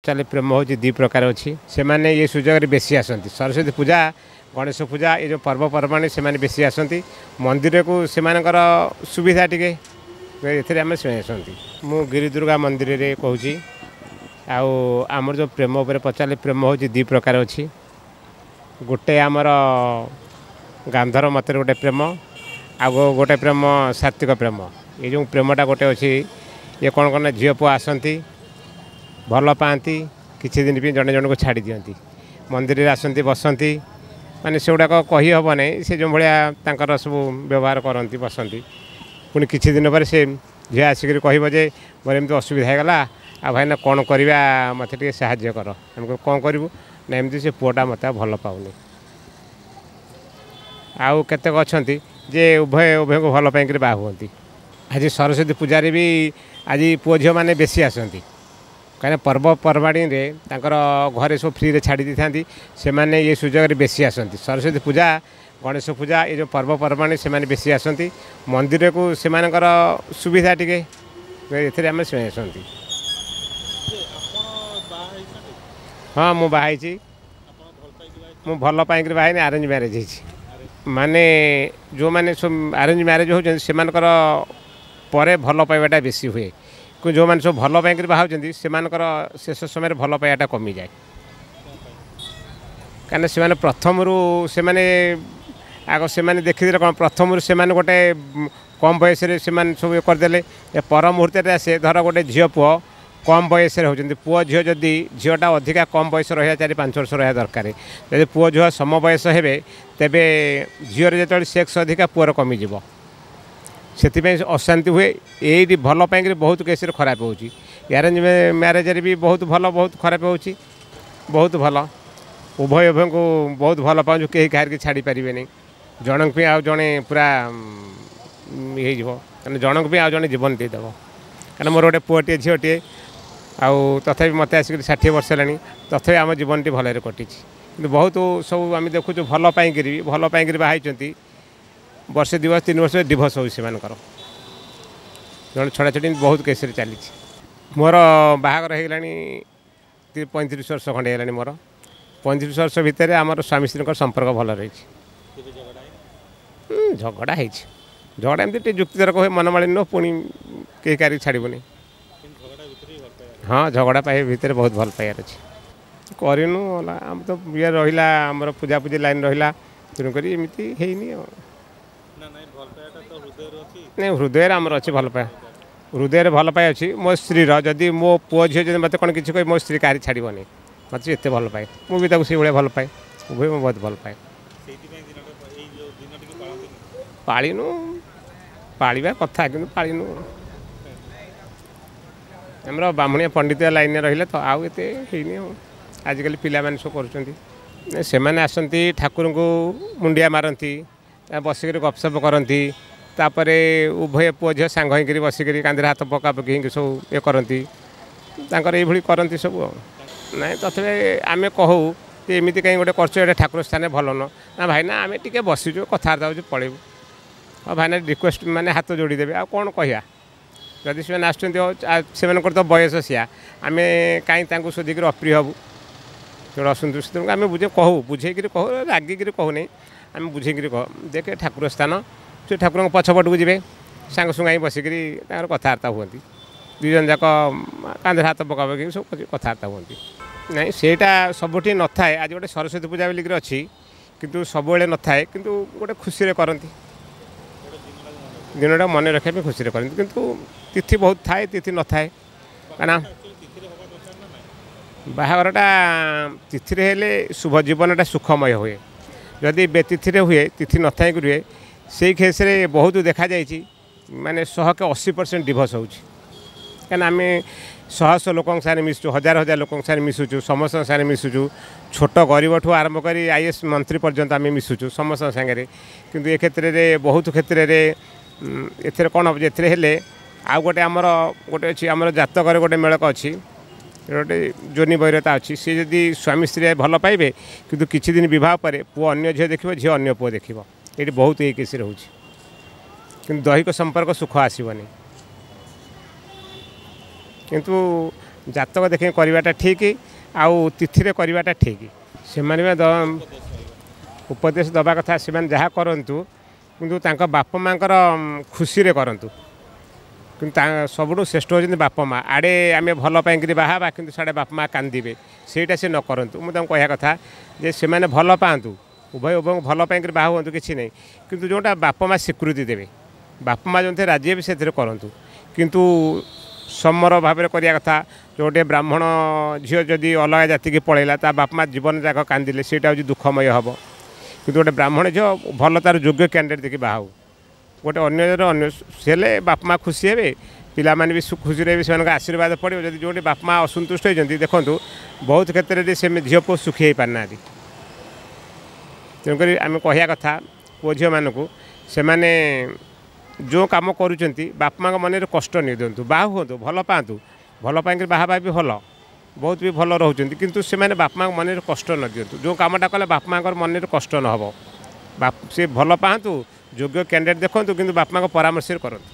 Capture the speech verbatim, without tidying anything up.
ପଚାରିଲେ ପ୍ରେମ ହେଉଛି ଦୁଇ ପ୍ରକାର ଅଛି। ସେମାନେ ଏ ସୁଯୋଗରେ ବେଶୀ ଆସନ୍ତି। ସରସ୍ୱତୀ ପୂଜା, ଗଣେଶ ପୂଜା, ଏ ଯେଉଁ ପର୍ବପର୍ବାଣି, ସେମାନେ ବେଶୀ ଆସନ୍ତି ମନ୍ଦିରକୁ। ସେମାନଙ୍କର ସୁବିଧା ଟିକେ ଏଥିରେ ଆମେ ସେମାନେ ଆସନ୍ତି। ମୁଁ ଗିରିଦୁର୍ଗା ମନ୍ଦିରରେ କହୁଛି। ଆଉ ଆମର ଯେଉଁ ପ୍ରେମ ଉପରେ ପଚାରିଲେ, ପ୍ରେମ ହେଉଛି ଦୁଇ ପ୍ରକାର ଅଛି। ଗୋଟେ ଆମର ଗାନ୍ଧର ମତରେ ଗୋଟେ ପ୍ରେମ, ଆଉ ଗୋଟେ ପ୍ରେମ ସାତ୍ତ୍ୱିକ ପ୍ରେମ। ଏ ଯେଉଁ ପ୍ରେମଟା ଗୋଟେ ଅଛି, ଇଏ କ'ଣ କ'ଣ ଝିଅ ପୁଅ ଆସନ୍ତି, ଭଲ ପାଆନ୍ତି, କିଛି ଦିନ ପାଇଁ ଜଣେ ଜଣକୁ ଛାଡ଼ି ଦିଅନ୍ତି। ମନ୍ଦିରରେ ଆସନ୍ତି, ବସନ୍ତି, ମାନେ ସେଗୁଡ଼ାକ କହିହେବ ନାହିଁ। ସେ ଯେଉଁ ଭଳିଆ ତାଙ୍କର ସବୁ ବ୍ୟବହାର କରନ୍ତି, ବସନ୍ତି, ପୁଣି କିଛି ଦିନ ପରେ ସେ ଝିଅ ଆସିକରି କହିବ ଯେ ମୋର ଏମିତି ଅସୁବିଧା ହେଇଗଲା, ଆଉ ଭାଇନା କ'ଣ କରିବା, ମୋତେ ଟିକେ ସାହାଯ୍ୟ କର। ଆମେ କହିବୁ କ'ଣ କରିବୁ? ନା, ଏମିତି ସେ ପୁଅଟା ମୋତେ ଆଉ ଭଲ ପାଉନି। ଆଉ କେତେକ ଅଛନ୍ତି ଯେ ଉଭୟ ଉଭୟଙ୍କୁ ଭଲ ପାଇକରି ବାହା ହୁଅନ୍ତି। ଆଜି ସରସ୍ୱତୀ ପୂଜାରେ ବି ଆଜି ପୁଅ ଝିଅମାନେ ବେଶୀ ଆସନ୍ତି, କାହିଁକିନା ପର୍ବପର୍ବାଣୀରେ ତାଙ୍କର ଘରେ ସବୁ ଫ୍ରିରେ ଛାଡ଼ି ଦେଇଥାନ୍ତି। ସେମାନେ ଏ ସୁଯୋଗରେ ବେଶୀ ଆସନ୍ତି। ସରସ୍ୱତୀ ପୂଜା, ଗଣେଶ ପୂଜା, ଏ ଯେଉଁ ପର୍ବପର୍ବାଣୀ, ସେମାନେ ବେଶୀ ଆସନ୍ତି ମନ୍ଦିରକୁ। ସେମାନଙ୍କର ସୁବିଧା ଟିକେ ଏଥିରେ ଆମେ ସେମାନେ ଆସନ୍ତି। ହଁ, ମୁଁ ବାହା ହେଇଛି। ମୁଁ ଭଲ ପାଇକରି ବାହା ହେଇନି, ଆରେଞ୍ଜ ମ୍ୟାରେଜ୍ ହେଇଛି। ମାନେ ଯେଉଁମାନେ ସବୁ ଆରେଞ୍ଜ ମ୍ୟାରେଜ୍ ହେଉଛନ୍ତି, ସେମାନଙ୍କର ପରେ ଭଲ ପାଇବାଟା ବେଶୀ ହୁଏ। କିନ୍ତୁ ଯେଉଁମାନେ ସବୁ ଭଲ ପାଇକରି ବାହା ହେଉଛନ୍ତି, ସେମାନଙ୍କର ଶେଷ ସମୟରେ ଭଲ ପାଇବାଟା କମିଯାଏ। କାହିଁକିନା ସେମାନେ ପ୍ରଥମରୁ ସେମାନେ ଆଗ ସେମାନେ ଦେଖିଦେଲେ କ'ଣ, ପ୍ରଥମରୁ ସେମାନେ ଗୋଟେ କମ୍ ବୟସରେ ସେମାନେ ସବୁ ଇଏ କରିଦେଲେ, ଏ ପର ମୁହୂର୍ତ୍ତରେ ଆସେ। ଧର ଗୋଟେ ଝିଅ ପୁଅ କମ୍ ବୟସରେ ହେଉଛନ୍ତି, ପୁଅ ଝିଅ, ଯଦି ଝିଅଟା ଅଧିକା କମ୍ ବୟସ ରହିବା, ଚାରି ପାଞ୍ଚ ବର୍ଷ ରହିବା ଦରକାର। ଯଦି ପୁଅ ଝିଅ ସମ ବୟସ ହେବେ, ତେବେ ଝିଅର ଯେତେବେଳେ ସେକ୍ସ ଅଧିକା, ପୁଅର କମିଯିବ। ସେଥିପାଇଁ ଅଶାନ୍ତି ହୁଏ। ଏଇଠି ଭଲ ପାଇଁକରି ବହୁତ କେସ୍ରେ ଖରାପ ହେଉଛି। ଆରେଞ୍ଜ ମ୍ୟାରେଜରେ ବି ବହୁତ ଭଲ, ବହୁତ ଖରାପ ହେଉଛି। ବହୁତ ଭଲ, ଉଭୟ ଉଭୟଙ୍କୁ ବହୁତ ଭଲ ପାଉଛୁ, କେହି କାହାରିକି ଛାଡ଼ି ପାରିବେନି। ଜଣଙ୍କ ପାଇଁ ଆଉ ଜଣେ ପୁରା ହେଇଯିବ, କାରଣ ଜଣଙ୍କ ପାଇଁ ଆଉ ଜଣେ ଜୀବନ ଦେଇଦେବ। କାରଣ ମୋର ଗୋଟେ ପୁଅଟିଏ, ଝିଅଟିଏ, ଆଉ ତଥାପି ମୋତେ ଆସିକରି ଷାଠିଏ ବର୍ଷ ହେଲାଣି, ତଥାପି ଆମ ଜୀବନଟି ଭଲରେ କଟିଛି। କିନ୍ତୁ ବହୁତ ସବୁ ଆମେ ଦେଖୁଛୁ ଭଲ ପାଇଁକିରି ବି ଭଲ ପାଇଁକିରି ବାହା ହେଇଛନ୍ତି, ବର୍ଷେ ଦୁଇ ବର୍ଷ ତିନି ବର୍ଷ ଡିଭୋର୍ସ ହେଉଛି ସେମାନଙ୍କର, ଜଣେ ଛଡ଼ା ଛଡ଼ି ବହୁତ କେସ୍ରେ ଚାଲିଛି। ମୋର ବାହାଘର ହେଇଗଲାଣି ପଇଁତିରିଶ ବର୍ଷ ଖଣ୍ଡେ ହେଇଗଲାଣି ମୋର। ପଇଁତିରିଶ ବର୍ଷ ଭିତରେ ଆମର ସ୍ୱାମୀ ସ୍ତ୍ରୀଙ୍କର ସମ୍ପର୍କ ଭଲ ରହିଛି। ଝଗଡ଼ା ହେଇଛି, ଝଗଡ଼ା ଏମିତି ଟିକେ ଯୁକ୍ତିତର୍କ ହୁଏ, ମନମାଳିନ୍ୟ, ପୁଣି କେହି କାହାରିକି ଛାଡ଼ିବୁନି। ହଁ, ଝଗଡ଼ା ପାଇବା ଭିତରେ ବହୁତ ଭଲ ପାଇବାର ଅଛି। କରିନୁ ହେଲା, ଆମ ତ ଇଏ ରହିଲା, ଆମର ପୂଜାପୂଜି ଲାଇନ୍ ରହିଲା, ତେଣୁକରି ଏମିତି ହେଇନି। ଆଉ ନାଇଁ, ହୃଦୟରେ ଆମର ଅଛି ଭଲ ପାଇବା, ହୃଦୟରେ ଭଲ ପାଇବା ଅଛି ମୋ ସ୍ତ୍ରୀର। ଯଦି ମୋ ପୁଅ ଝିଅ ଯଦି ମୋତେ କ'ଣ କିଛି କହିବେ, ମୋ ସ୍ତ୍ରୀ କାହାରି ଛାଡ଼ିବନି। ମୋତେ ଏତେ ଭଲ ପାଏ, ମୁଁ ବି ତାକୁ ସେଇଭଳିଆ ଭଲ ପାଏ। ଉଭୟ ମୁଁ ବହୁତ ଭଲ ପାଏ। ପାଳିନୁ, ପାଳିବା କଥା କିନ୍ତୁ ପାଳିନୁ। ଆମର ବ୍ରାହ୍ମଣିଆ ପଣ୍ଡିତ ଲାଇନ୍ରେ ରହିଲେ ତ ଆଉ ଏତେ ହେଇନି। ଆଉ ଆଜିକାଲି ପିଲାମାନେ ସବୁ କରୁଛନ୍ତି। ସେମାନେ ଆସନ୍ତି, ଠାକୁରଙ୍କୁ ମୁଣ୍ଡିଆ ମାରନ୍ତି, ବସିକରି ଗପସପ କରନ୍ତି। ତାପରେ ଉଭୟ ପୁଅ ଝିଅ ସାଙ୍ଗ ହେଇକରି ବସିକରି କାନ୍ଧରେ ହାତ ପକାପକି ହେଇକି ସବୁ ଇଏ କରନ୍ତି, ତାଙ୍କର ଏଇଭଳି କରନ୍ତି ସବୁ। ଆଉ ନାଇଁ, ତଥାପି ଆମେ କହୁ ଯେ ଏମିତି କାହିଁ ଗୋଟେ କରୁଛ, ଏଇଟା ଠାକୁର ସ୍ଥାନରେ ଭଲ ନୁହଁ। ନା ଭାଇନା, ଆମେ ଟିକେ ବସିଛୁ, କଥାବାର୍ତ୍ତା ହେଉଛୁ, ପଳେଇବୁ। ଆଉ ଭାଇନା ରିକ୍ୱେଷ୍ଟ, ମାନେ ହାତ ଯୋଡ଼ିଦେବେ, ଆଉ କ'ଣ କହିବା? ଯଦି ସେମାନେ ଆସୁଛନ୍ତି, ସେମାନଙ୍କର ତ ବୟସ ସିଆ, ଆମେ କାହିଁ ତାଙ୍କୁ ଶୋଧିକିରି ଅପ୍ରିୟ ହେବୁ? ତେଣୁ ଅସନ୍ତୁଷ୍ଟ, ତେଣୁ ଆମେ ବୁଝେ କହୁ, ବୁଝେଇକିରି କହୁ, ରାଗିକିରି କହୁନି। ଆମେ ବୁଝେଇକିରି କହୁ, ଦେଖେ ଠାକୁର ସ୍ଥାନ। ସେ ଠାକୁରଙ୍କ ପଛପଟକୁ ଯିବେ, ସାଙ୍ଗ ସାଙ୍ଗ ହେଇ ବସିକିରି ତାଙ୍କର କଥାବାର୍ତ୍ତା ହୁଅନ୍ତି। ଦୁଇ ଜଣ ଯାକ କାନ୍ଧରେ ହାତ ପକାପକି ସବୁ କଥାବାର୍ତ୍ତା ହୁଅନ୍ତି। ନାଇଁ, ସେଇଟା ସବୁଠି ନଥାଏ। ଆଜି ଗୋଟେ ସରସ୍ୱତୀ ପୂଜା ବୋଲିକିରି ଅଛି, କିନ୍ତୁ ସବୁବେଳେ ନଥାଏ। କିନ୍ତୁ ଗୋଟେ ଖୁସିରେ କରନ୍ତି, ଦିନଟା ମନେ ରଖିବା ପାଇଁ ଖୁସିରେ କରନ୍ତି। କିନ୍ତୁ ତିଥି ବହୁତ ଥାଏ, ତିଥି ନଥାଏ। କାରଣ ବାହାଘରଟା ତିଥିରେ ହେଲେ ଶୁଭ, ଜୀବନଟା ସୁଖମୟ ହୁଏ। ଯଦି ବେତିଥିରେ ହୁଏ, ତିଥି ନଥାଇକି ରୁହେ, ସେଇ କେସ୍ରେ ବହୁତ ଦେଖାଯାଇଛି, ମାନେ ଶହକେ ଅଶୀ ପରସେଣ୍ଟ ଡିଭୋର୍ସ ହେଉଛି। କାହିଁକିନା ଆମେ ଶହ ଶହ ଲୋକଙ୍କ ସାଙ୍ଗରେ ମିଶୁଛୁ, ହଜାର ହଜାର ଲୋକଙ୍କ ସାଙ୍ଗରେ ମିଶୁଛୁ, ସମସ୍ତଙ୍କ ସାଙ୍ଗରେ ମିଶୁଛୁ। ଛୋଟ ଗରିବଠୁ ଆରମ୍ଭ କରି I S ମନ୍ତ୍ରୀ ପର୍ଯ୍ୟନ୍ତ ଆମେ ମିଶୁଛୁ ସମସ୍ତଙ୍କ ସାଙ୍ଗରେ। କିନ୍ତୁ ଏ କ୍ଷେତ୍ରରେ ବହୁତ କ୍ଷେତ୍ରରେ ଏଥିରେ କ'ଣ ହେବ, ଏଥିରେ ହେଲେ ଆଉ ଗୋଟେ ଆମର ଗୋଟେ ଅଛି, ଆମର ଜାତକରେ ଗୋଟେ ମେଳକ ଅଛି, ଗୋଟେ ଯୋନି ବୈରତା ଅଛି। ସିଏ ଯଦି ସ୍ୱାମୀ ସ୍ତ୍ରୀ ଭଲ ପାଇବେ, କିନ୍ତୁ କିଛି ଦିନ ବିବାହ ପରେ ପୁଅ ଅନ୍ୟ ଝିଅ ଦେଖିବ, ଝିଅ ଅନ୍ୟ ପୁଅ ଦେଖିବ। ଏଇଠି ବହୁତ ଏଇ କେସ୍ରେ ହେଉଛି। କିନ୍ତୁ ଦୈହିକ ସମ୍ପର୍କ ସୁଖ ଆସିବନି। କିନ୍ତୁ ଜାତକ ଦେଖିକି କରିବାଟା ଠିକ୍ ଆଉ ତିଥିରେ କରିବାଟା ଠିକ୍। ସେମାନେ ବି ଉପଦେଶ ଦେବା କଥା, ସେମାନେ ଯାହା କରନ୍ତୁ କିନ୍ତୁ ତାଙ୍କ ବାପା ମାଆଙ୍କର ଖୁସିରେ କରନ୍ତୁ। କିନ୍ତୁ ତା ସବୁଠୁ ଶ୍ରେଷ୍ଠ ହେଉଛନ୍ତି ବାପା ମା'। ଆଡ଼େ ଆମେ ଭଲ ପାଇଁକିରି ବାହା ହେବା, କିନ୍ତୁ ସିଆଡ଼େ ବାପା ମା' କାନ୍ଦିବେ, ସେଇଟା ସେ ନ କରନ୍ତୁ। ମୁଁ ତାଙ୍କୁ କହିବା କଥା ଯେ ସେମାନେ ଭଲ ପାଆନ୍ତୁ, ଉଭୟ ଉଭୟଙ୍କୁ ଭଲ ପାଇଁକିରି ବାହା ହୁଅନ୍ତୁ, କିଛି ନାହିଁ, କିନ୍ତୁ ଯେଉଁଟା ବାପା ମା' ସ୍ୱୀକୃତି ଦେବେ, ବାପା ମା' ଯେଉଁଥିରେ ରାଜି ହେବେ ସେଥିରେ କରନ୍ତୁ। କିନ୍ତୁ ସମର ଭାବରେ କରିବା କଥା। ଯେଉଁଟେ ବ୍ରାହ୍ମଣ ଝିଅ ଯଦି ଅଲଗା ଜାତିକି ପଳେଇଲା, ତା ବାପା ମା' ଜୀବନ ଯାକ କାନ୍ଦିଲେ, ସେଇଟା ହେଉଛି ଦୁଃଖମୟ ହେବ। କିନ୍ତୁ ଗୋଟେ ବ୍ରାହ୍ମଣ ଝିଅ ଭଲ ତାର ଯୋଗ୍ୟ କ୍ୟାଣ୍ଡିଡେଟ୍ ଦେଖି ବାହା ହେଉ, ଗୋଟେ ଅନ୍ୟ ଅନ୍ୟ ହେଲେ ବାପା ମା' ଖୁସି ହେବେ, ପିଲାମାନେ ବି ଖୁସିରେ ବି ସେମାନଙ୍କ ଆଶୀର୍ବାଦ ପଡ଼ିବ। ଯଦି ଯେଉଁଠି ବାପା ମା' ଅସନ୍ତୁଷ୍ଟ ହେଇଛନ୍ତି, ଦେଖନ୍ତୁ ବହୁତ କ୍ଷେତ୍ରରେ ସେ ଝିଅ ପୁଅ ସୁଖୀ ହେଇପାରୁନାହାନ୍ତି। ତେଣୁକରି ଆମେ କହିବା କଥା ପୁଅ ଝିଅମାନଙ୍କୁ, ସେମାନେ ଯେଉଁ କାମ କରୁଛନ୍ତି ବାପା ମାଆଙ୍କ ମନରେ କଷ୍ଟ ନେଇ ଦିଅନ୍ତୁ, ବାହା ହୁଅନ୍ତୁ, ଭଲ ପାଆନ୍ତୁ, ଭଲ ପାଇଁକି ବାହା ହେବା ବି ଭଲ, ବହୁତ ବି ଭଲ ରହୁଛନ୍ତି, କିନ୍ତୁ ସେମାନେ ବାପା ମାଆଙ୍କ ମନରେ କଷ୍ଟ ନ ଦିଅନ୍ତୁ। ଯେଉଁ କାମଟା କଲେ ବାପା ମାଆଙ୍କର ମନରେ କଷ୍ଟ ନ ହେବ, ସେ ଭଲ ପାଆନ୍ତୁ, ଯୋଗ୍ୟ କ୍ୟାଣ୍ଡିଡେଟ୍ ଦେଖନ୍ତୁ, କିନ୍ତୁ ବାପା ମାଆଙ୍କ ପରାମର୍ଶରେ କରନ୍ତୁ।